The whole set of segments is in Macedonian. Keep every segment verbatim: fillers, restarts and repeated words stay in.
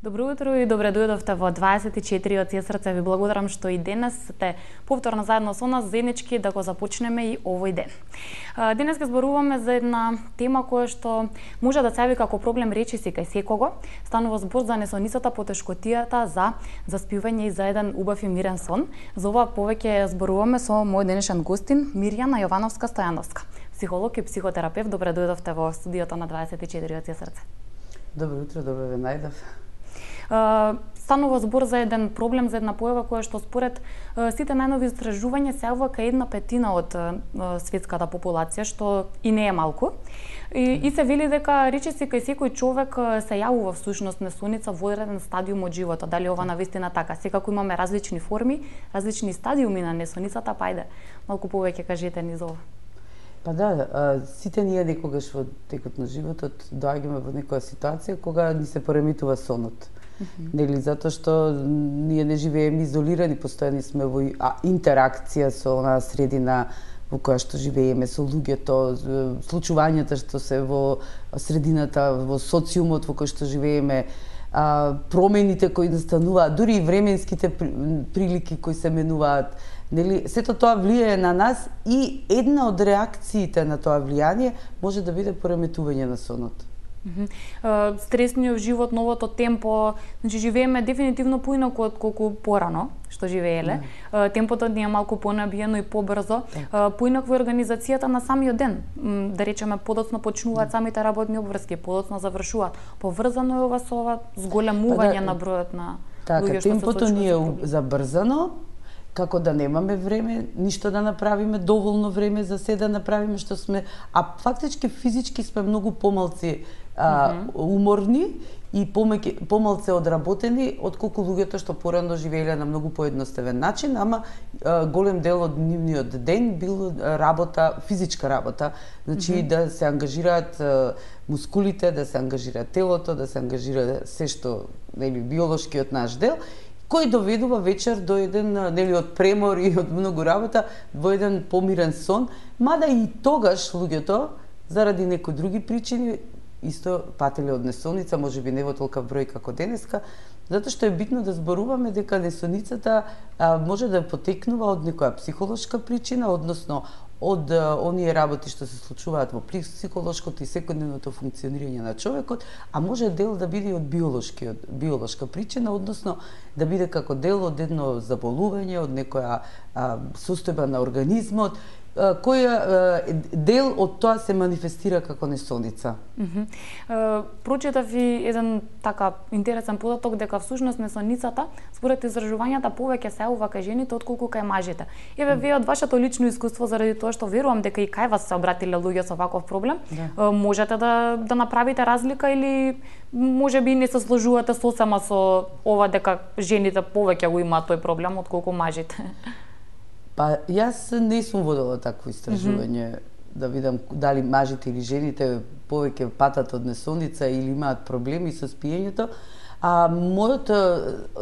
Добро утро и добре дојдовте во дваесет и четири од срце. Ви благодарам што и денес сте повторно заедно со нас заеднички да го започнеме и овој ден. Денес ќе зборуваме за една тема која што може да се јави како проблем речиси кај секого. Станува збор за несоницата, потешкотијата за заспивање и за еден убав и мирен сон. За ова повеќе зборуваме со мој денешен гостин Мирјана Јовановска-Стојановска, психолог и психотерапевт. Добре дојдовте во студиото на дваесет и четири од срце. Добро утро, добро ве најдов. Станува збор за еден проблем, за една појава која што според сите најнови истражувања се јавува кај една петина од светската популација, што и не е малку. И, и се вели дека речиси кај секој човек се јавува всушност несоница во еден стадиум од животот. Дали ова навистина така? Секако имаме различни форми, различни стадиуми на несоницата, па ајде малку повеќе кажете ни за ова. Па да, сите ние некогаш во текот на животот доаѓаме во некоја ситуација кога ни се пореметува сонот. Mm-hmm. Нели, затоа што ние не живееме изолирани, постојани сме во интеракција со онаа средина во која што живееме, со луѓето, случувањата што се во средината, во социумот во кој што живееме, а, промените кои настануваат, дури и временските прилики кои се менуваат. Нели, сето тоа влијае на нас и една од реакциите на тоа влијание може да биде пореметување на сонот. Mm-hmm. Стресниот живот, новото темпо, значи живееме дефинитивно поинаку од колку порано што живееле. Mm. Темпото ни е малку понабиено и побрзо. Mm. Поинакво организацијата на самиот ден. Да речеме, подоцно почнуваат mm. самите работни обврски, подоцно завршуваат. Поврзано е ова со ова зголемување па да, на бројот на така, луѓе што се темпото ни е забрзано, како да немаме време, ништо да направиме, доволно време за се да направиме што сме, а фактички физички сме многу помалци а, mm-hmm. уморни и помеќе, помалце одработени отколку луѓето што порано живееле на многу поедноставен начин, ама а, голем дел од нивниот ден бил работа, физичка работа, значи mm-hmm. да се ангажираат а, мускулите, да се ангажира телото, да се ангажира се што, нели, биолошкиот наш дел, кој доведува вечер до еден, нели, од премор и од многу работа, во еден помирен сон, мада и тогаш луѓето, заради некои други причини, исто пателе од несоница, може би не во толков број како денеска, затоа што е битно да зборуваме дека несоницата а, може да потекнува од некоја психолошка причина, односно од а, оние работи што се случуваат во психолошкото и секојдневното функционирање на човекот, а може дел да биде од биолошкиот биолошка причина, односно да биде како дел од едно заболување, од некоја а, состојба на организмот, која дел од тоа се манифестира како несоница. Mm-hmm. Прочитав и еден така интересен податок дека всушност несоницата според изражувањата повеќе се јавува кај жените отколку кај мажите. Еве вие од вашето лично искуство, заради тоа што верувам дека и кај вас се обратиле луѓе со ваков проблем, да. можете да да направите разлика или можеби не се сложувате сосема со ова дека жените повеќе го имаат тој проблем отколку мажите? Па, јас не сум водела такво истражување, mm-hmm. да видам дали мажите или жените повеќе патат од несоница или имаат проблеми со спиењето. А мојот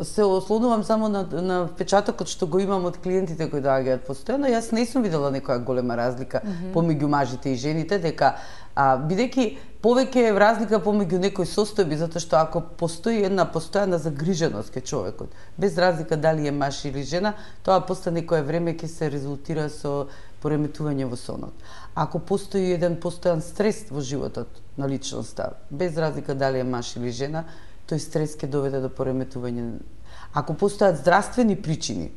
се ослонувам само на, на впечатокот што го имам од клиентите кои доаѓаат постојано. Јас не сум видела некоја голема разлика mm-hmm. помеѓу мажите и жените, дека а, бидејќи повеќе е разлика помеѓу некои состојби, затоа што ако постои една постојана загриженост кај човекот, без разлика дали е маж или жена, тоа после некое време ќе се резултира со пореметување во сонот. Ако постои еден постојан стрес во животот на личноста, без разлика дали е маж или жена, тој стрес ќе доведе до пореметување. Ако постојат здравствени причини,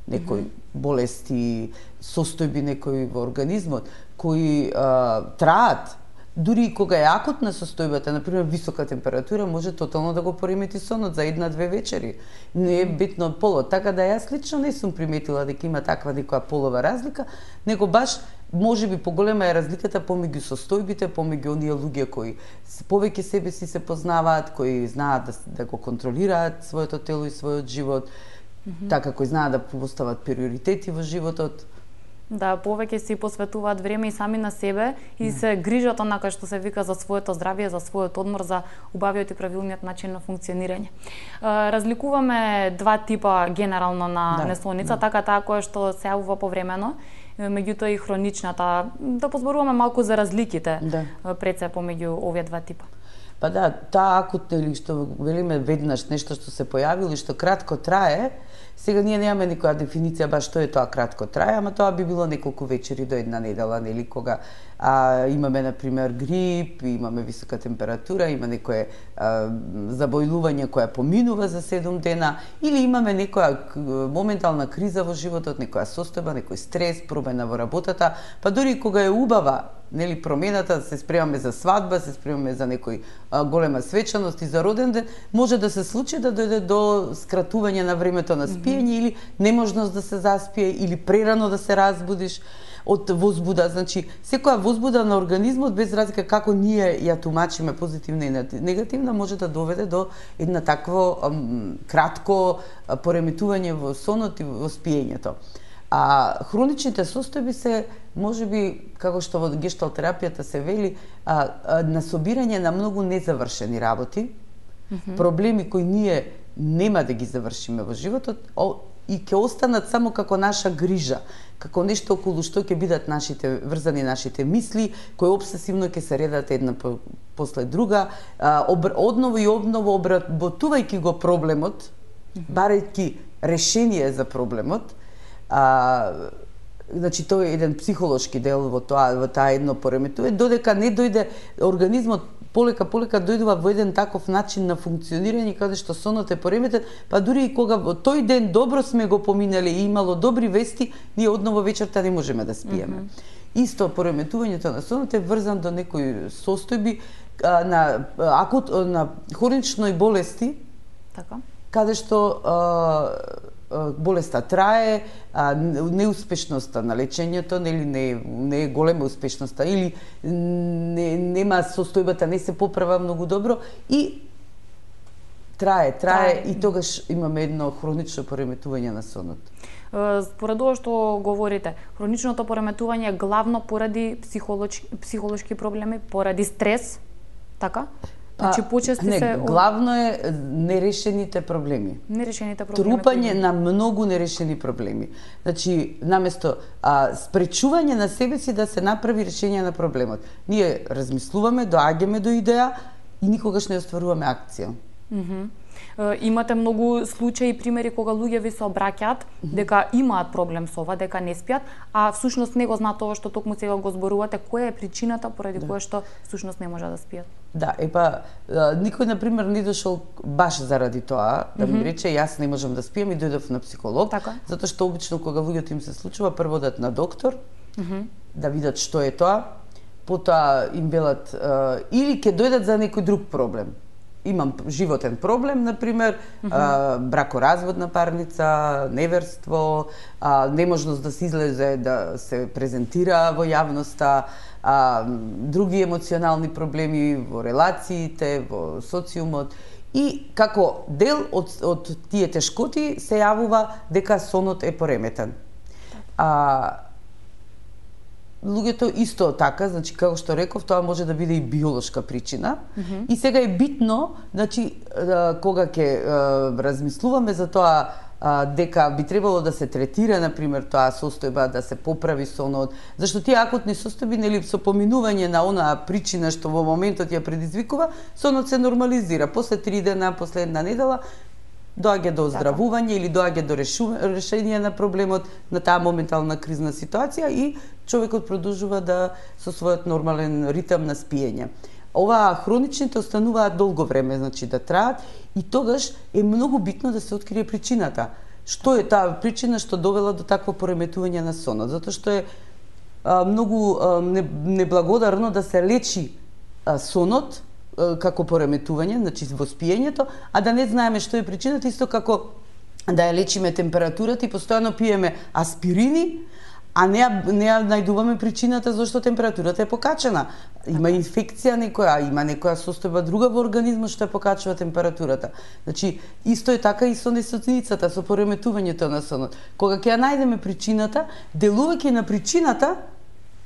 некои mm-hmm. болести, состојби некои во организмот, кои а, траат, дури и кога е акутна состојбата, например висока температура, може тотално да го поремети сонот за една-две вечери. Не е битно полот. Така да јас лично не сум приметила дека има таква некоја полова разлика, него баш можеби поголема е разликата помеѓу состојбите, помеѓу оние луѓе кои повеќе себе си се познаваат, кои знаат да, да го контролираат своето тело и својот живот, mm-hmm. така кои знаат да постават приоритети во животот. Да, повеќе си посветуваат време и сами на себе и се грижат онака што се вика за своето здравје, за својот одмор, за убавиот и правилниот начин на функционирање. Разликуваме два типа генерално на да, несоница, да. така таа која што се јавува повремено, меѓутоа и хроничната. Да позборуваме малку за разликите да. пред се помеѓу овие два типа. Па да, таа акутна или што велиме веднаш нешто што се појавило и што кратко трае, сега ние немаме никоја дефиниција баш што е тоа кратко трае, ама тоа би било неколку вечери до една недела, нели, кога а, имаме на пример грип, имаме висока температура, има некое а, забојлување која поминува за седум дена, или имаме некоја моментална криза во животот, некоја состојба, некој стрес, промена во работата, па дури кога е убава, нели, промената, се спремаме за свадба, се спремаме за некој а, голема свечаност и за роден ден, може да се случи да дојде до скратување на времето на спиење, mm-hmm. или неможност да се заспие, или прерано да се разбудиш од возбуда. Значи, секоја возбуда на организмот, без разлика како ние ја тумачиме позитивна и негативна, може да доведе до една такво ам, кратко пореметување во сонот и во спиењето. А хроничните состојби се, можеби, како што во гешталт терапијата се вели, а, а, насобирање на многу незавршени работи, mm-hmm. проблеми кои ние нема да ги завршиме во животот, о, и ќе останат само како наша грижа, како нешто околу што ќе бидат нашите врзани нашите мисли, кои обсесивно ќе се редат една по, после друга, а, об, одново и обново обработувајќи го проблемот, mm-hmm. барајќи решение за проблемот. А, значи тоа е еден психолошки дел во тоа, во таа едно пореметување, додека не дојде организмот полека полека дојдува во еден таков начин на функционирање каде што сонот е пореметен, па дури и кога во тој ден добро сме го поминали и имало добри вести, ние одново вечерта не можеме да спиеме. Mm-hmm. Исто пореметувањето на сонот е врзан до некои состојби а, на акут на хронични болести. Така. Каде што а, болеста трае, а, неуспешноста на лечењето, нели не, не е голема успешноста, или не, нема состојбата, не се поправа многу добро и трае, трае, трае. И тогаш имаме едно хронично пореметување на сонот. Според ова што говорите, хроничното пореметување е главно поради психолошки, психолошки проблеми, поради стрес, така? Значи почести не, се главно е нерешените проблеми. Нерешените проблеми. Трупање на многу нерешени проблеми. Значи, наместо а, спречување на себе си да се направи решение на проблемот. Ние размислуваме, доаѓаме до идеја и никогаш не остваруваме акција. Mm-hmm. Имате многу случаи и примери кога луѓе ви се обраќаат дека имаат проблем со ова, дека не спијат, а всушност не го знаат тоа што токму сега го зборувате, која е причината поради да. која што всушност не може да спијат. Да, епа, никој на пример не дошол баш заради тоа, да ми рече јас не можам да спијам и дојдов на психолог, така? Затоа што обично кога луѓето им се случува, прво одат на доктор, mm-hmm. да видат што е тоа, потоа им велат или ќе дојдат за некој друг проблем. Имам животен проблем, например, mm-hmm. а, бракоразводна парница, неверство, а, неможност да се излезе, да се презентира во јавноста, а, други емоционални проблеми во релациите, во социумот. И како дел од, од тие тешкоти се јавува дека сонот е пореметен. А, луѓето исто така, значи како што реков, тоа може да биде и биолошка причина. Mm-hmm. И сега е битно, значи кога ќе размислуваме за тоа дека би требало да се третира, например, тоа состојба, да се поправи сонот, зашто тие акутни состојби, нели, со поминување на онаа причина што во моментот ја предизвикува, сонот се нормализира. После три дена, после една недела, доаѓа до оздравување или доаѓа до решение на проблемот, на таа моментална кризна ситуација и човекот продолжува да со својот нормален ритам на спиење. Ова хроничните остануваат долго време, значи да траат, и тогаш е многу битно да се открие причината. Што е таа причина што довела до такво пореметување на сонот? Затоа што е а, многу а, неблагодарно да се лечи а, сонот како пореметување, значи во спиењето, а да не знаеме што е причината, исто како да ја лечиме температурата и постојано пиеме аспирини, а не не ја најдуваме причината зашто температурата е покачена. Има инфекција некоја, има некоја состојба друга во организмот што ја покачува температурата. Значи, исто е така и со несоцницата, со пореметувањето на сонот. Кога ќе ја најдеме причината, делувајќи на причината,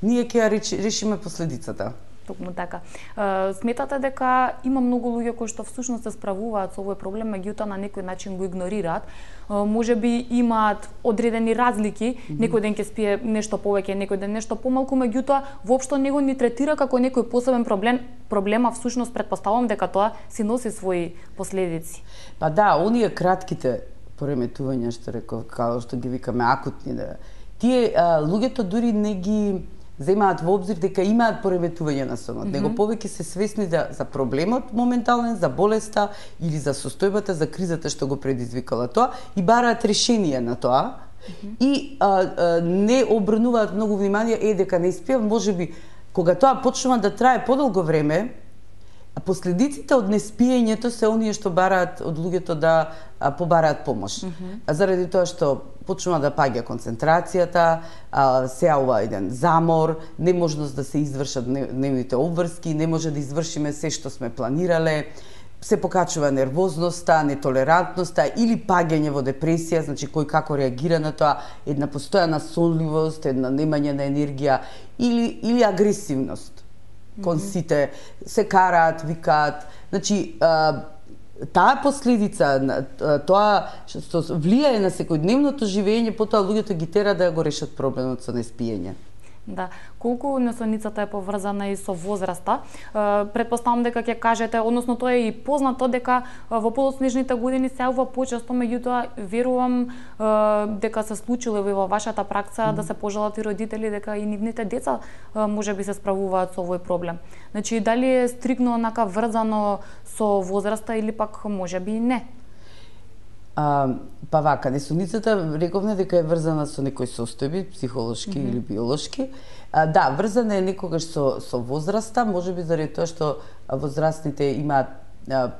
ние ќе ја решиме последицата. Токму така. Е, сметате дека има многу луѓе кои што всушност се справуваат со овој проблем, меѓутоа на некој начин го игнорираат. Е, може би имаат одредени разлики, mm -hmm. некој ден ќе спие нешто повеќе, некој ден нешто помалку, меѓутоа воопшто него ни третира како некој посебен проблем, проблема всушност предпоставувам дека тоа си носи своји последици. Па да, оние кратките пореметувања што реков, како што ги викаме акутни, да. Тие а, луѓето дури не ги земаат во обзир дека имаат пореметување на сонот, mm -hmm. него повеќе се свесни за, за проблемот моментален, за болеста или за состојбата, за кризата што го предизвикала тоа и бараат решение на тоа. Mm -hmm. И а, а, не обрнуваат многу внимание, е дека не испијам, можеби кога тоа почнува да трае подолго време, последиците од неспиењето се оние што бараат од луѓето да а, побараат помош. Mm -hmm. Заради тоа што почнува да паѓа концентрацијата, а, се јавува еден замор, неможност да се извршат дневните обврски, не може да извршиме се што сме планирале, се покачува нервозноста, нетолерантноста или паѓање во депресија, значи кој како реагира на тоа, една постојана сонливост, една немање на енергија или или агресивност. Кон сите се караат, викаат, значи а, таа последица, тоа што влијае на секојдневното живење, потоа луѓето ги тера да го решат проблемот со неспиење. Да, колку несоницата е поврзана и со возраста, претпоставам дека ќе кажете, односно тоа е и познато дека во подоцнежните години се јавува почесто, меѓутоа верувам дека се случило и во вашата пракса mm -hmm. да се пожалат и родители дека и нивните деца можеби се справуваат со овој проблем. Значи дали е стрикно онака врзано со возраста или пак можеби и не? А, па вака, несоницата рековме дека е врзана со некои состојби, психолошки mm -hmm. или биолошки. А, да, врзана е некогаш со, со возраста, можеби заради тоа што возрастните имаат а,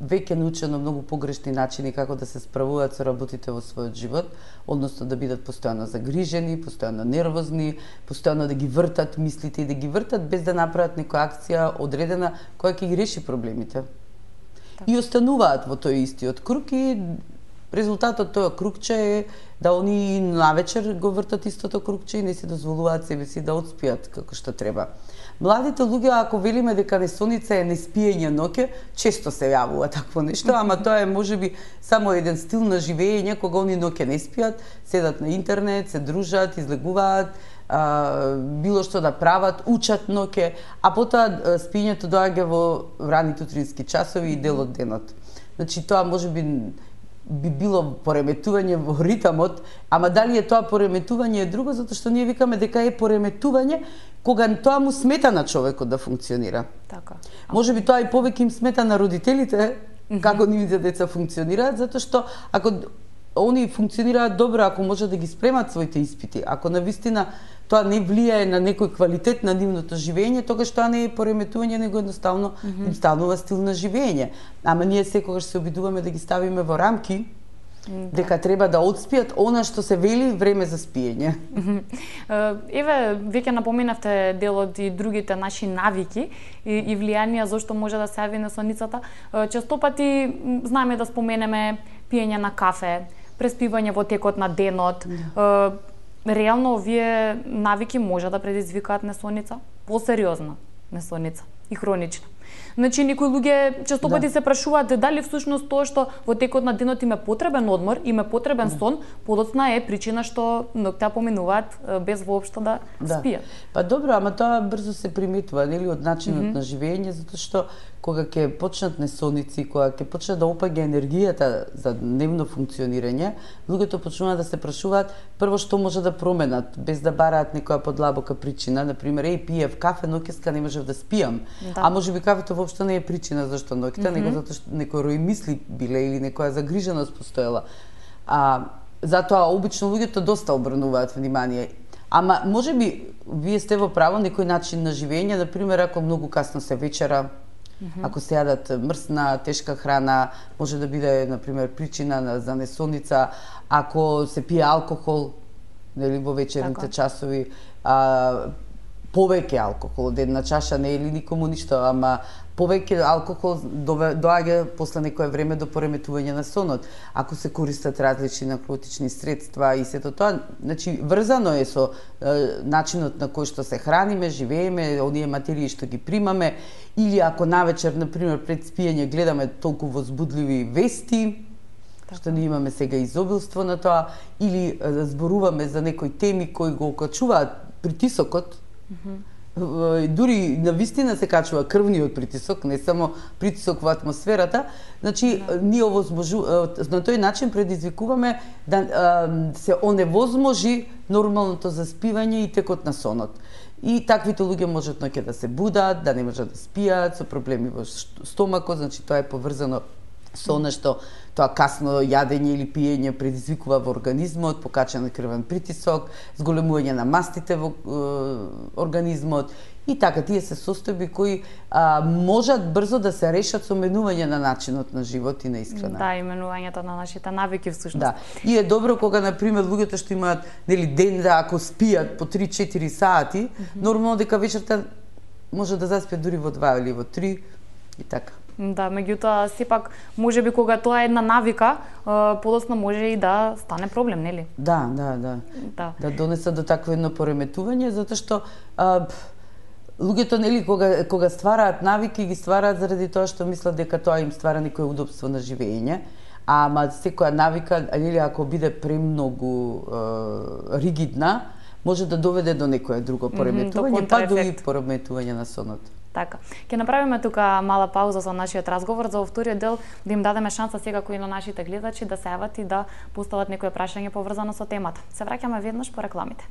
веќе научено многу погрешни начини како да се справуваат со работите во својот живот, односно да бидат постојано загрижени, постојано нервозни, постојано да ги вртат мислите и да ги вртат без да направат некоја акција одредена која ќе ги реши проблемите. Так. И остануваат во тој истиот круг и резултатот тоа кругче е да они навечер го вртат истото кругче и не се дозволуваат себе си да одспијат како што треба. Младите луѓе, ако велиме дека несоница е неспиење ноќе, често се јавува такво нешто, ама тоа е можеби само еден стил на живење кога они ноќе не спијат, седат на интернет, се дружат, излегуваат, а, било што да прават, учат ноќе, а потоа спиењето доаѓа во ранните утрински часови и дел од денот. Значи тоа можеби би било пореметување во ритамот, ама дали е тоа пореметување е друго, затоа што ние викаме дека е пореметување кога тоа му смета на човекот да функционира. Така. Можеби тоа и повеќе им смета на родителите како нивните деца функционираат, затоа што ако они функционираат добро, ако може да ги спремат своите испити, ако навистина тоа не влијае на некој квалитет на нивното живење, тогаш тоа не е пореметување, него едноставно mm -hmm. им станува стил на живење. Ама ние секогаш се обидуваме да ги ставиме во рамки, да. дека треба да одспијат она што се вели време за спиење. Еве, веќе напоменавте дел од и другите наши навики и, и влијанија зошто може да се јави несоницата. Често пати знаеме да споменеме пиење на кафе, преспивање во текот на денот. Да. Реално овие навики може да предизвикаат несоница, посериозна несоница и хронична. Значи, некои луѓе често пати да. се прашуваат дали всушност тоа што во текот на денот им е потребен одмор, им е потребен да. сон, подоцна е причина што ноќта поминуваат без воопшто да, да спијат. Па добро, ама тоа брзо се приметува, нели, од начинот mm -hmm. на живење, затоа што кога ќе почнат несоници, кога ќе почне да опаѓа енергијата за дневно функционирање, луѓето почнуваат да се прашуваат прво што може да променат, без да бараат некоја подлабока причина, например, еј, пиев кафе, ноќеска не можев да спијам. Да. А можеби кафето воопшто не е причина зашто ноќта, mm -hmm. него затоа што некој рој мисли биле или некоја загриженост постоела. А затоа обично луѓето доста обрнуваат внимание. Ама можеби вие сте во право, некој начин на живење, например, ако многу касно се вечера, Mm -hmm. ако се јадат мрсна, тешка храна, може да биде, например, причина на, за несоница. Ако се пие алкохол, нели, во вечерните така. часови, а, повеќе алкохол, од една чаша не е ли никому ништо, ама повеќе алкохол доаѓа после некое време до пореметување на сонот. Ако се користат различни наркотични средства и сето тоа, значи врзано е со е, начинот на кој што се храниме, живееме, оние материи што ги примаме, или ако навечер, например, пред спиење гледаме толку возбудливи вести, така, што ние имаме сега изобилство на тоа, или е, зборуваме за некои теми кои го окачуваат притисокот, mm-hmm. дури на вистина се качува крвниот притисок, не само притисок во атмосферата, значи да. Ние овозможу на тој начин предизвикуваме да се оневозможи нормалното заспивање и текот на сонот. И таквите луѓе можат ноќе да се будат, да не можат да спијат, со проблеми во стомакот, значи тоа е поврзано со нешто, тоа касно јадење или пиење предизвикува во организмот покачен крвен притисок, зголемување на мастите во е, организмот и така тие се состојби кои а, можат брзо да се решат со менување на начинот на живот и на исхрана. Да, и менувањето на нашите навики всушност. Да. И е добро кога на пример луѓето што имаат нели ден да ако спијат по три-четири сати, mm-hmm. нормално дека вечерта може да заспиат дури во два или во три и така. Да, меѓутоа сепак можеби кога тоа е една навика, подоцна може и да стане проблем, нели? Да, да, да. Да, да донесе до такво едно пореметување, затоа што а, луѓето нели кога кога ствараат навики ги ствараат заради тоа што мислат дека тоа им ствара некое удобство на живење, ама секоја навика нели ако биде премногу а, ригидна, може да доведе до некое друго пореметување, mm-hmm, па до и пореметување на сонот. Така. Ќе направиме тука мала пауза за нашиот разговор, за во вториот дел да им дадеме шанса сега кои на нашите гледачи да се јават и да постават некое прашање поврзано со темата. Се враќаме веднаш по рекламите.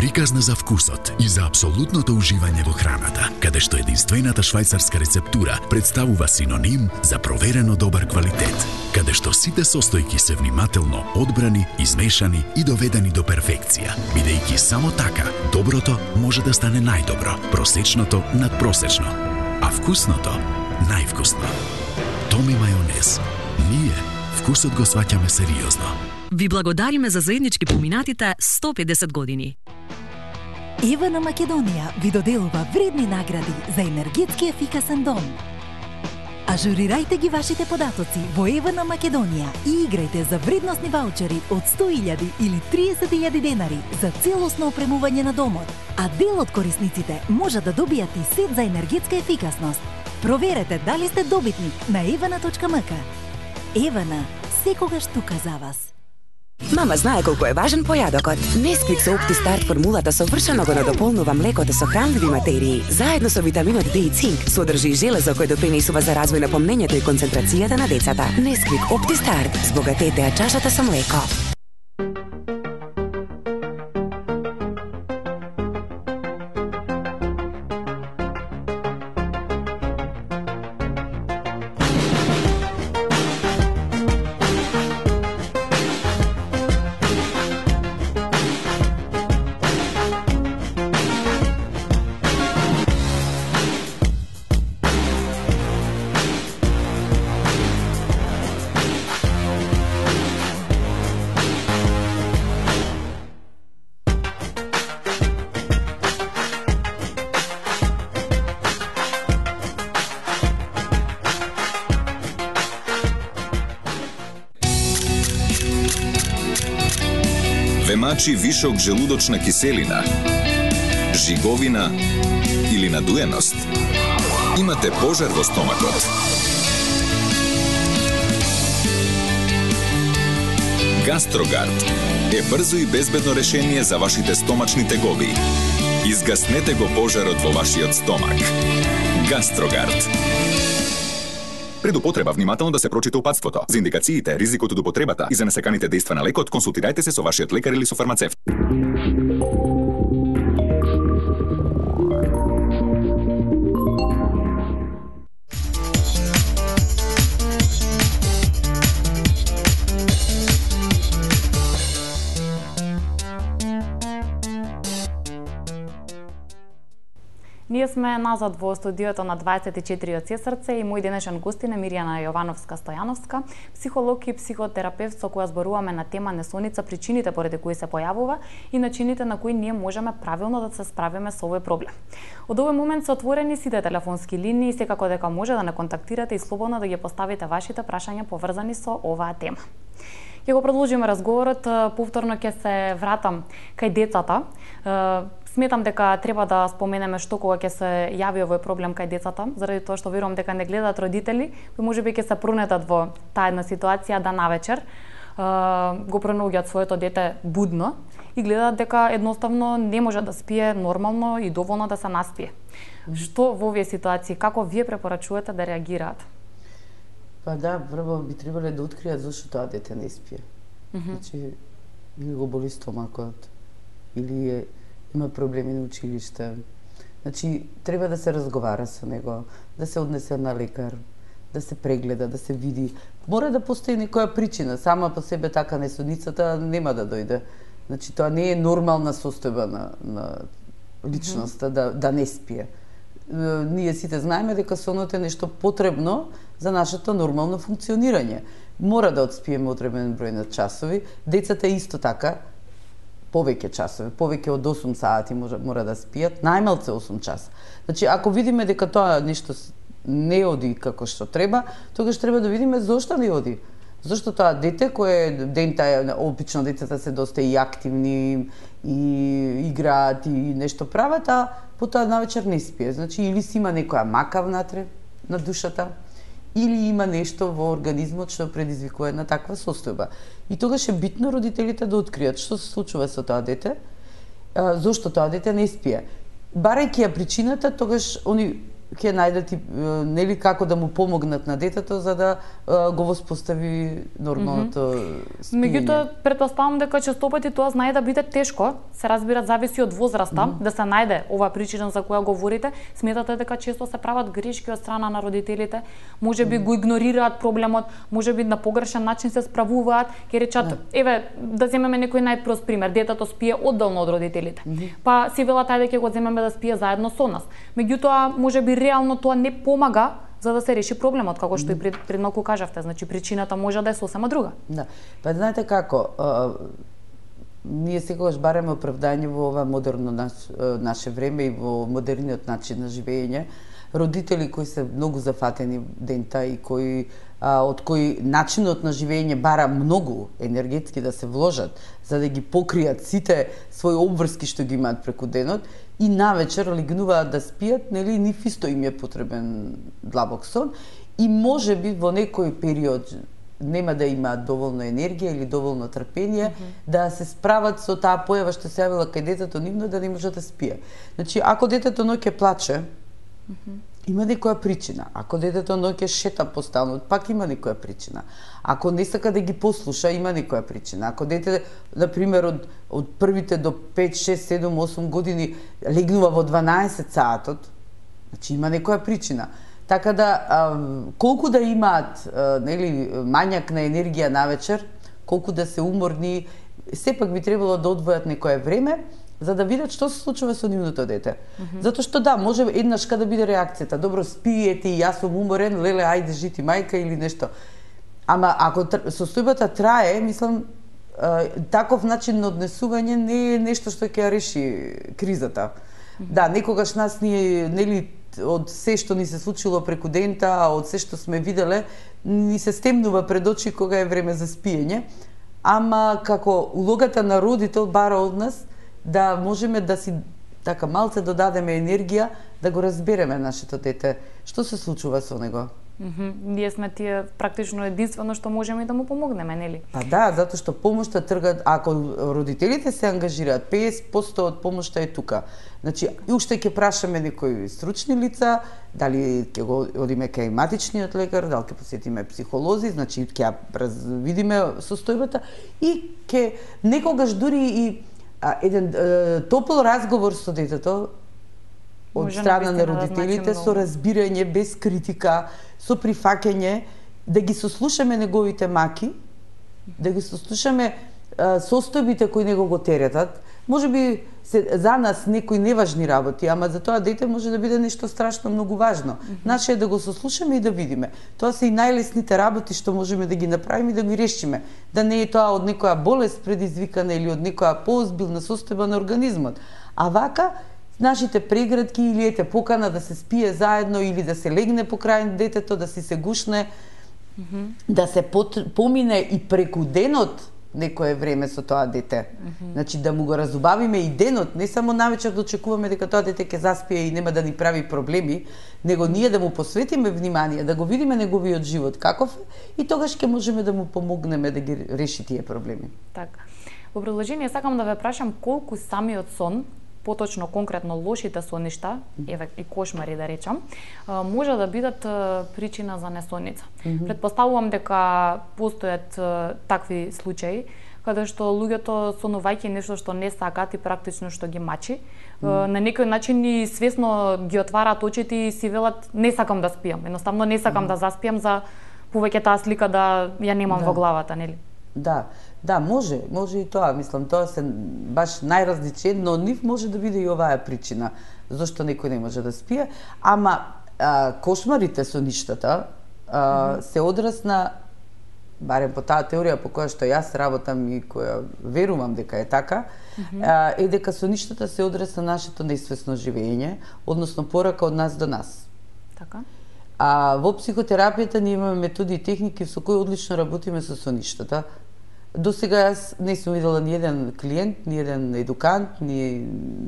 Приказна за вкусот и за апсолутното уживање во храната, каде што единствената швајцарска рецептура представува синоним за проверено добар квалитет, каде што сите состојки се внимателно одбрани, измешани и доведени до перфекција, бидејќи само така доброто може да стане најдобро, просечното надпросечно, а вкусното највкусно. Томи мајонез. Ние вкусот го сваќаме сериозно. Ви благодариме за заеднички поминатите сто педесет години. Евана Македонија ви доделува вредни награди за енергетски ефикасен дом. Ажурирајте ги вашите податоци во Евана Македонија и играјте за вредносни ваучери од сто илјади или триесет илјади денари за целосно опремување на домот, а дел од корисниците може да добијат и сет за енергетска ефикасност. Проверете дали сте добитник на евана точка ем ка. Евана, секогаш тука за вас. Мама знае колку е важен појадокот. Несквик со OptiStart формулата совршено го надополнува млекото со хранливи материи, заедно со витаминот Д и цинк, содржи и железо кој допринесува за развој на помнењето и концентрацијата на децата. Несквик OptiStart, збогатете ја чашата со млеко. Мачи вишок желудочна киселина, жиговина или надуеност? Имате пожар во стомакот. Гастрогард е брзо и безбедно решение за вашите стомачни тегоби. Изгаснете го пожарот во вашиот стомак. Гастрогард. Пред употреба внимателно да се прочита упатството. За индикациите, ризикот од употребата и за несаканите дејства на лекот, консултирајте се со вашиот лекар или со фармацевт. Ние сме назад во студиото на дваесет и четири од Сесрце и мој денешен гостин е Мирјана Јовановска-Стојановска, психолог и психотерапевт со која зборуваме на тема несоница, причините поради кои се појавува и начините на кои ние можеме правилно да се справиме со овој проблем. Од овој момент се отворени сите телефонски линии и секако дека може да не контактирате и слободно да ги поставите вашите прашања поврзани со оваа тема. Ќе го продолжиме разговорот, повторно ќе се вратам кај децата. Сметам дека треба да споменеме што кога ќе се јави овој проблем кај децата, заради тоа што верувам дека не гледаат родители, кои можеби ќе се пронетат во таа една ситуација да навечер го пронаоѓаат своето дете будно и гледаат дека едноставно не може да спие нормално и доволно да се наспие. Што во овие ситуации, како вие препорачувате да реагираат? Па да, прво би требале да откријат зашто тоа дете не спие. Mm -hmm. Значи, или го боли стомакот, или е, има проблеми на училиште. Значи, треба да се разговара со него, да се однесе на лекар, да се прегледа, да се види. Мора да постои некоја причина, сама по себе така несудницата нема да дојде. Значи, тоа не е нормална состојба на, на личноста, mm -hmm. да, да не спие. Ние сите знаеме дека сонот е нешто потребно за нашето нормално функционирање. Мора да одспиеме одреден број на часови. Децата исто така, повеќе часови, повеќе од осум сати мора, мора да спијат, најмалце осум часа. Значи, ако видиме дека тоа нешто не оди како што треба, тогаш треба да видиме зошто не оди. Зошто тоа дете кое дента обично децата се доста и активни и играат и нешто прават, а потоа навечер не спие. Значи, или си има некоја мака внатре на душата, или има нешто во организмот што предизвикува една таква состојба. И тогаш е битно родителите да откријат што се случува со тоа дете, зошто тоа дете не спие. Барајќи ја причината, тогаш они ќе најдат и нели како да му помогнат на детето за да а, го воспостави нормалното mm -hmm. спиење. Меѓутоа, претпоставам дека често пати тоа знае да биде тешко, се разбира зависи од возраста, mm -hmm. да се најде оваа причина за која говорите. Сметате дека често се прават грешки од страна на родителите, можеби mm -hmm. го игнорираат проблемот, можеби на погрешен начин се справуваат, ќе речат, yeah. еве, да земеме некој најпрост пример, детето спие одделно од родителите. Mm -hmm. Па си велат ајде ќе го земеме да спие заедно со нас. Меѓутоа, можеби реално тоа не помага за да се реши проблемот, како што и пред, пред малку кажавте. Значи, причината може да е сосема друга. Да. Па знаете како, а, ние секогаш бараме оправдање во ова модерно наш, наше време и во модерниот начин на живење. Родители кои се многу зафатени дента и кои а, од кои начинот на живење бара многу енергетски да се вложат за да ги покријат сите своји обврски што ги имаат преку денот и навечер легнуваат да спијат, нели нив исто им е потребен длабок сон и можеби во некој период нема да имаат доволно енергија или доволно трпение mm -hmm. да се справат со таа појава што се јавила кај детето нивно да не може да спие. Значи, ако детето ноќе плаче, mm -hmm. има некоја причина. Ако детето ноќе шета по станот, пак има некоја причина. Ако не сака да ги послуша, има некоја причина. Ако дете, на пример, од, од првите до пет, шест, седум, осум години легнува во дванаесет саатот, значи има некоја причина. Така да, а, колку да имаат а, нели, мањак на енергија навечер, колку да се уморни, сепак би требало да одвојат некое време, за да видат што се случува со нивното дете. Mm -hmm. Затоа што да, може еднаш да биде реакцијата. Добро, спиете и јас сум уморен, леле, ајде, жити мајка или нешто. Ама ако состојбата трае, мислам, таков начин на однесување не е нешто што ќе ја реши кризата. Mm -hmm. Да, некогаш нас ние, нели, од се што ни се случило преку дента, од се што сме виделе, ни се стемнува пред очи кога е време за спиење. Ама како улогата на родител бара од нас да можеме да си така малце додадеме енергија да го разбереме нашето дете. Што се случува со него? Mm -hmm. Ние сме тие практично единствено што можеме да му помогнеме, нели? Па да, затоа што помошта тргат, ако родителите се ангажираат, петдесет проценти од помошта е тука. Значи, и уште ќе прашаме некои стручни лица, дали ќе го одиме кај матичниот лекар, дали ќе посетиме психолози, значи ќе видиме состојбата и ќе некогаш дури и а, еден е, топол разговор со детето од страна на родителите, со разбирање, без критика, со прифаќање, да ги сослушаме неговите маки, да ги сослушаме а, состојбите кои него го теретат. Може би се, за нас некои неважни работи, ама за тоа дете може да биде нешто страшно многу важно. Mm -hmm. Наше е да го сослушаме и да видиме. Тоа се и најлесните работи што можеме да ги направиме и да ги решиме. Да не е тоа од некоја болест предизвикана или од некоја поозбилна состојба на организмот. А вака, нашите преградки или ете покана да се спие заедно или да се легне покрај детето, да си се гушне, mm -hmm. да се помине и преку денот некое време со тоа дете. Mm -hmm. Значи да му го разубавиме и денот, не само навечер да очекуваме дека тоа дете ќе заспие и нема да ни прави проблеми, него ние да му посветиме внимание, да го видиме неговиот живот каков е и тогаш ќе можеме да му помогнеме да ги реши тие проблеми. Така. Во продолжение сакам да ве прашам колку самиот сон, поточно конкретно лошите соништа, еве и кошмари да речам, може да бидат причина за несоница. Mm -hmm. Претпоставувам дека постојат такви случаи каде што луѓето сонувајќи нешто што не сакаат и практично што ги мачи, mm -hmm. на некој начин и свесно ги отвараат очите и си велат не сакам да спијам, едноставно не сакам mm -hmm. да заспијам за повеќе таа слика да ја немам да. во главата, нели? Да, да, може, може и тоа, мислам, тоа се баш најразличен, но нив може да биде и оваа причина зошто некој не може да спие, ама а, кошмарите со ништата а, mm -hmm. се одраз на, барем по таа теорија по која што јас работам и која верувам дека е така, mm -hmm. а, е дека со ништата се одраз на нашето несвесно живење, односно порака од нас до нас. Така. А во психотерапијата ние имаме методи и техники со кои одлично работиме со соништата. До сега јас не сум видела ни еден клиент, ни еден едукант, ни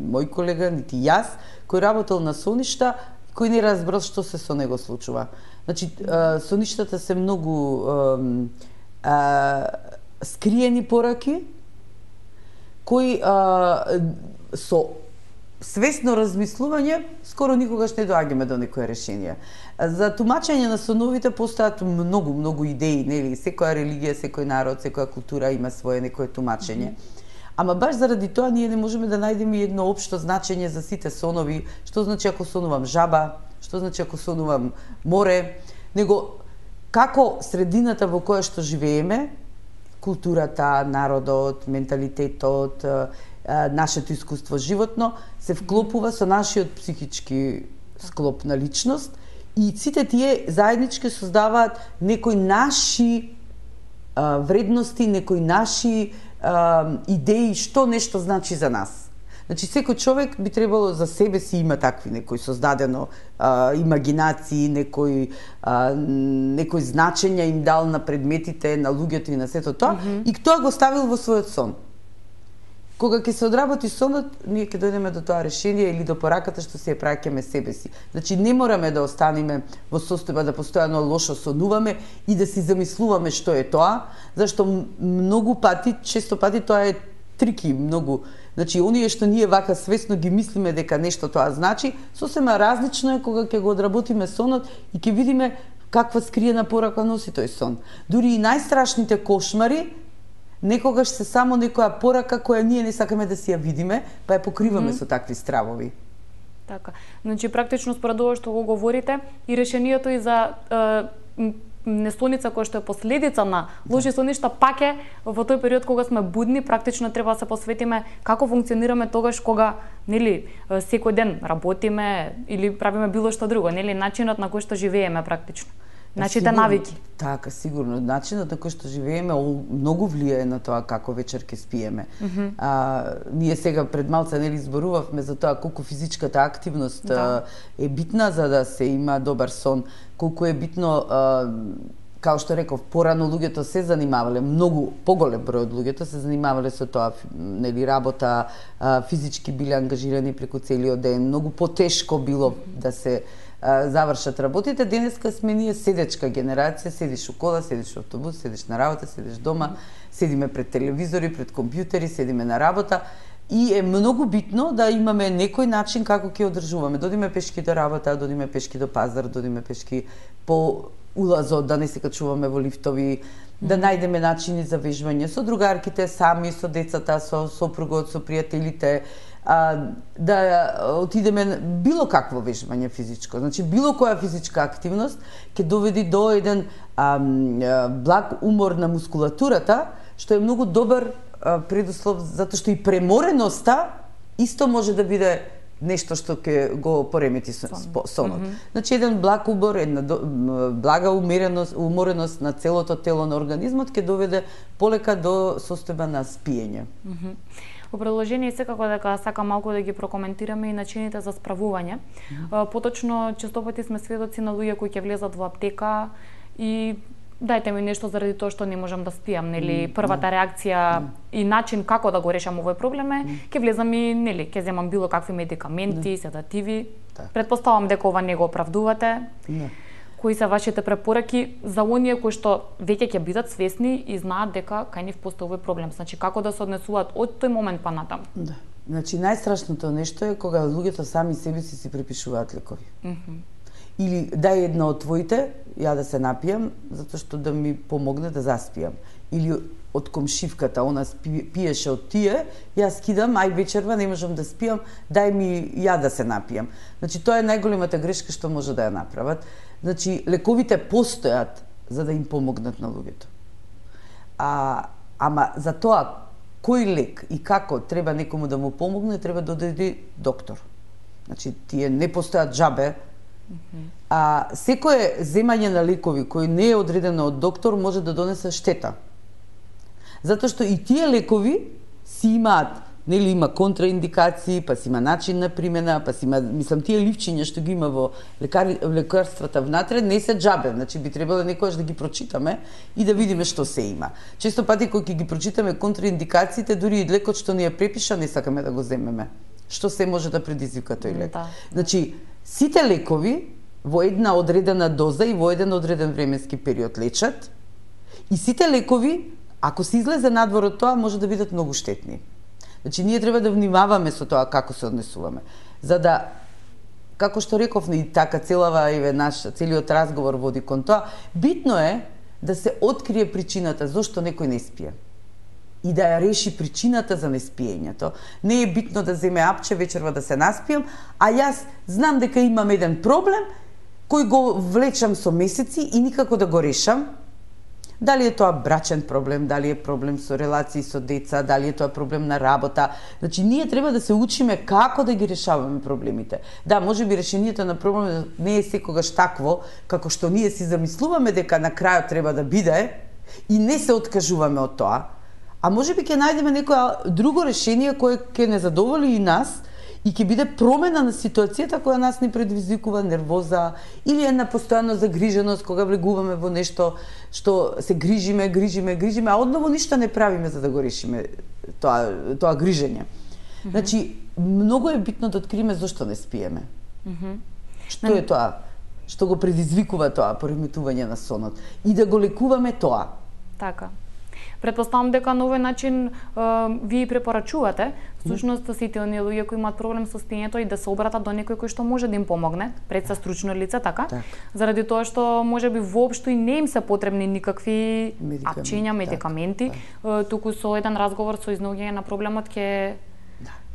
мој колега, нити јас, кој работел на соништа, кој не разбрал што се со него случува. Значи, соништата се многу а, а, скриени пораки, кои а, со свесно размислување скоро никогаш не доаѓаме до некое решение. За тумачење на соновите постојат многу, многу идеи, нели? Секоја религија, секој народ, секоја култура има свое некое тумачење. Mm -hmm. Ама баш заради тоа ние не можеме да најдеме едно општо значење за сите сонови, што значи ако сонувам жаба, што значи ако сонувам море, него како средината во која што живееме, културата, народот, менталитетот, нашето искуство животно се вклопува со нашиот психички склоп на личност и сите тие заеднички создаваат некои наши а, вредности, некои наши а, идеи што нешто значи за нас. Значи секој човек би требало за себе си има такви некои создадено а, имагинации, некои а, некои значења им дал на предметите, на луѓето и на сето тоа, mm -hmm. и тоа го ставил во својот сон. Кога ќе се одработи сонот, ние ќе дојдеме до тоа решение или до пораката што се ја праќаме себе си. Значи не мораме да останеме во состојба да постојано лошо сонуваме и да си замислуваме што е тоа, зашто многу пати, често пати тоа е трики, многу. Значи оние што ние вака свесно ги мислиме дека нешто тоа значи, сосема различно е кога ќе го одработиме сонот и ќе видиме каква скриена порака носи тој сон. Дури и најстрашните кошмари некогаш се само некоја порака која ние не сакаме да си ја видиме, па ја покриваме mm -hmm. со такви стравови. Така. Значи практично според ова што го говорите и решението и за е, несоница која што е последица на лоши соништа пак е во тој период кога сме будни, практично треба да се посветиме како функционираме тогаш кога, нели, секој ден работиме или правиме било што друго, нели, начинот на кој што живееме практично. Нашите навики. Така, сигурно. Начинот на кој што живееме многу влијае на тоа како вечер ќе спиеме. Mm -hmm. а, ние сега пред малце нели зборувавме за тоа колку физичката активност да. е битна за да се има добар сон, колку е битно а, као што реков, порано луѓето се занимавале, многу поголем број од луѓето се занимавале со тоа, нели, работа, физички биле ангажирани преку целиот ден, многу потешко било да се завршат работите. Денеска сме ние седечка генерација, седиш у кола, седиш у автобус, седиш на работа, седиш дома, седиме пред телевизори, пред компјутери, седиме на работа. И е многу битно да имаме некој начин како ќе одржуваме. Додиме пешки до работа, додиме пешки до пазар, додиме пешки по улазот, да не се качуваме во лифтови, да најдеме начини за вежбање со другарките, сами, со децата, со сопругот, со пријателите, а, да отидеме било какво вежбање физичко. Значи, било која физичка активност ќе доведи до еден а, благ умор на мускулатурата, што е многу добар а, предуслов, затоа што и премореноста исто може да биде нешто што ќе го поремети сонот. Mm -hmm. Значи, еден благ убор, една блага умереност, умореност на целото тело на организмот ќе доведе полека до состојба на спиење. Mm -hmm. Во продолжение секако дека сакам малку да ги прокоментираме и начините за справување. Mm -hmm. Поточно, често пати сме сведоци на луѓе кои ќе влезат во аптека и дајте ми нешто заради тоа што не можам да спиам, нели, првата реакција и начин како да го решам овој проблем е, ќе влезам и, нели, ќе земам било какви медикаменти, седативи. Предпоставам дека ова не го оправдувате. Не. Кои се вашите препораки за оние кои што веќе ќе бидат свесни и знаат дека кај нив постои овој проблем? Значи, како да се однесуваат од тој момент па натам? Да. Значи, најстрашното нешто е кога луѓето сами себе си си препишуваат лекови. Mm -hmm. Или дај една од твоите, ја да се напијам, затоа што да ми помогне да заспијам. Или од комшивката, она пиеше од тие, јас кидам, ај вечерва не можам да спијам, дај ми ја да се напијам. Значи, тоа е најголемата грешка што може да ја направат. Значи, лековите постојат за да им помогнат на луѓето. А, ама за тоа, кој лек и како треба некому да му помогне, треба да одиде доктор. Значи, тие не постојат джабе. А секое земање на лекови кој не е одредено од доктор може да донесе штета. Затоа што и тие лекови си имаат, нели, има контраиндикации, па си има начин на примена, па си има, мислам, тие ливчиња што ги има во лекари, лекарствата внатре не се джабе, значи би требало некогаш да ги прочитаме и да видиме што се има. Често пати кога ги прочитаме контраиндикациите, дури и лекот што ни е препиша не сакаме да го земеме. Што се може да предизвика тој лек? Да. Значи, сите лекови во една одредена доза и во еден одреден временски период лечат и сите лекови, ако се излезе надвор од тоа, може да бидат многу штетни. Значи, ние треба да внимаваме со тоа како се однесуваме. За да, како што реков, и така целава еве наш целиот разговор води кон тоа, битно е да се открие причината зошто некој не спие. И да ја реши причината за неспиењето. Не е битно да земе апче вечерва да се наспиам, а јас знам дека имам еден проблем кој го влечам со месеци и никако да го решам. Дали е тоа брачен проблем, дали е проблем со релации со деца, дали е тоа проблем на работа. Значи, ние треба да се учиме како да ги решаваме проблемите. Да, може би решението на проблемот не е секогаш такво, како што ние си замислуваме дека на крајот треба да биде и не се откажуваме од тоа. А може би ќе најдеме некоја друго решение кое ќе не задоволи и нас и ќе биде промена на ситуацијата која нас не предизвикува нервоза или една постојана загриженост кога влегуваме во нешто што се грижиме, грижиме, грижиме, а одново ништо не правиме за да го решиме тоа тоа грижење. Mm -hmm. Значи, многу е битно да откриеме зошто не спиеме. Mm -hmm. Што е тоа? Што го предизвикува тоа пореметување на сонот и да го лекуваме тоа. Така. Предпоставам дека на овој начин uh, ви препорачувате всушност сите оние луѓе кои имаат проблем со спиењето и да се обратат до некој кој што може да им помогне, пред се стручно лице, така? Так. Заради тоа што можеби воопшто и не им се потребни никакви апчиња, медикаменти, так. туку со еден разговор со изнаоѓање на проблемот ќе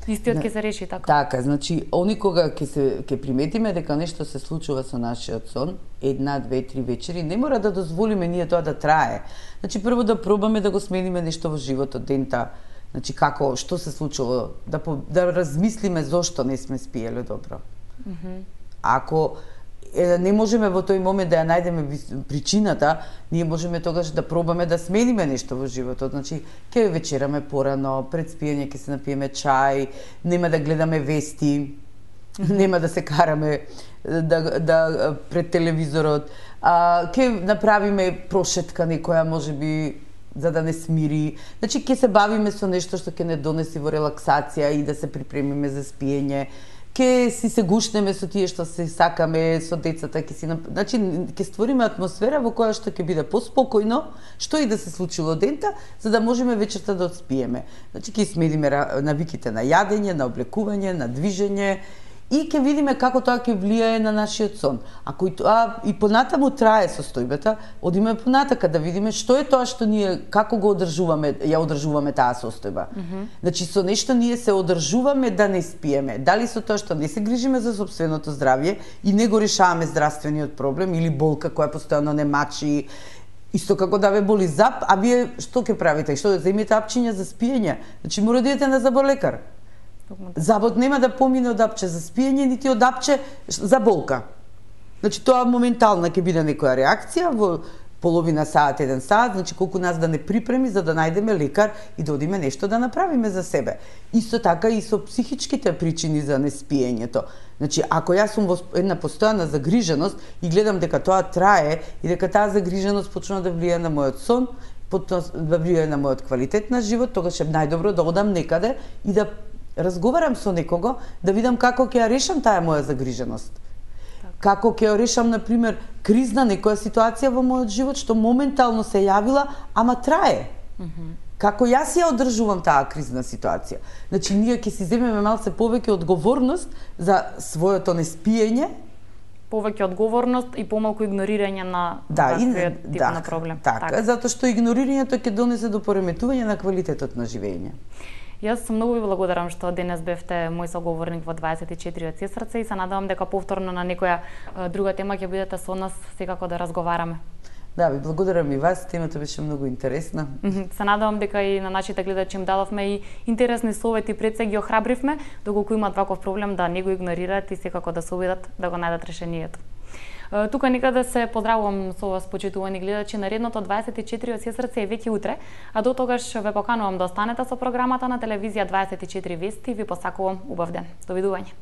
истиот ќе се реши, така? Така, значи, они кога ќе се ќе приметиме дека нешто се случува со нашиот сон, една, две, три вечери, не мора да дозволиме ние тоа да трае. Значи, прво да пробаме да го смениме нешто во животот, дента, значи, како, што се случило, да, да размислиме зошто не сме спиеле добро. Mm -hmm. Ако е, не можеме во тој момент да ја најдеме причината, ние можеме тогаш да пробаме да смениме нешто во животот. Значи, ќе вечераме порано, пред спиење ќе се напиеме чај, нема да гледаме вести, Нема да се караме да, да пред телевизорот. А, ке направиме прошетка некоја, можеби, за да не смири. Значи, ке се бавиме со нешто што ќе не донеси во релаксација и да се припремиме за спиење. Ке си се гушнеме со тие што се сакаме, со децата, ке си, значи, ке створиме атмосфера во која што ќе биде поспокојно, што и да се случи во дента, за да можеме вечерта да одспиеме. Значи, ке смедиме навиките на јадење, на облекување, на движење, и ќе видиме како тоа ќе влијае на нашиот сон. Ако и тоа и понатаму трае состојбата, одиме понатака да видиме што е тоа што ние, како го одржуваме, ја одржуваме таа состојба. Mm -hmm. Значи со нешто ние се одржуваме да не спиеме. Дали со тоа што не се грижиме за сопственото здравје и не го решаваме здравствениот проблем или болка која постојано не мачи, исто како да ве боли зап, а вие што ќе правите? Што земете апчиња за спиење? Значи мора да идете на заболекар. Забот нема да помине од апче за спиење, нити од апче за болка. Значи тоа моментална ќе биде некоја реакција во половина саат, еден саат, значи колку нас да не припреми за да најдеме лекар и да одиме нешто да направиме за себе. Исто така и со психичките причини за неспиењето. Значи, ако јас сум во една постојана загриженост и гледам дека тоа трае и дека таа загриженост почнува да влијае на мојот сон, потоа да влијае на мојот квалитет на живот, тогаш е најдобро да одам некаде и да разговарам со некого, да видам како ќе ја решам таа моја загриженост. Так. Како ќе ја решам, например, кризна некоја ситуација во мојот живот што моментално се јавила, ама трае. Mm -hmm. Како јас ја одржувам таа кризна ситуација. Значи, ние ќе си земеме малце повеќе одговорност за своето неспиење, повеќе одговорност и помалку игнорирање на да, таквиот и, тип да, на проблем. Така, така, затоа што игнорирањето ќе донесе до пореметување на квалитетот на живење. Јас многу ви благодарам што денес бевте мој соговорник во дваесет и четири од сестрце и се надевам дека повторно на некоја друга тема ќе бидете со нас секако да разговараме. Да, ви благодарам и вас, темата беше многу интересна. Се надевам дека и на нашите гледачи им дадовме и интересни совети, пред се ги охрабривме, доколку имаат ваков проблем да не го игнорираат и секако да се обидат да го најдат решението. Тука некаде се поздравувам со вас, почитувани гледачи. Наредното дваесет и четири од сестрце е веќе утре, а до тогаш ве поканувам да останете со програмата на телевизија дваесет и четири Вести и ви посакувам убав ден. Довидување.